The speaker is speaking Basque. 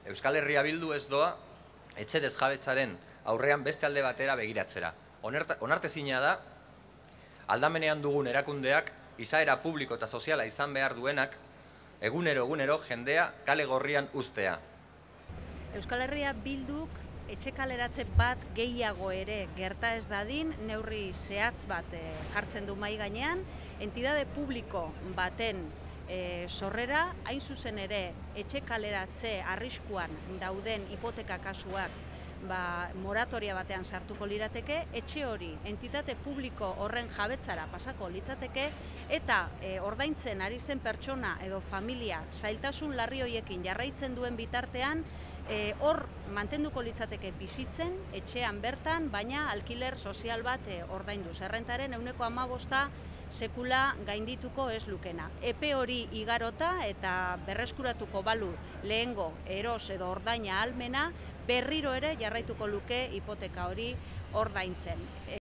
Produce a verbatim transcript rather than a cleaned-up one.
Euskal Herria Bildu ez doa etxe desjabetzaren aurrean beste alde batera begiratzera. Onartezina da, aldamenean dugun erakundeak, izaera publiko eta soziala izan behar duenak, egunero-egunero jendea kale gorrian uztea. Euskal Herria Bilduk etxe kaleratze bat gehiago ere gerta ez dadin, neurri zehatz bat jartzen du mahai gainean, entidade publiko baten E, sorrera, hain zuzen ere, etxe kaleratze arriskuan dauden hipoteka kasuak ba, moratoria batean sartuko lirateke, etxe hori entitate publiko horren jabetzara pasako litzateke, eta e, ordaintzen ari zen pertsona edo familia zailtasun larri horiekin jarraitzen duen bitartean, e, hor mantenduko litzateke bizitzen, etxean bertan, baina alkiler sozial bat e, ordainduz. Errentaren ehuneko hamabosta sekula gaindituko ez lukena. Epe hori igarota eta berreskuratuko balu lehengo eros edo ordaina ahalmena, berriro ere jarraituko luke hipoteka hori ordaintzen.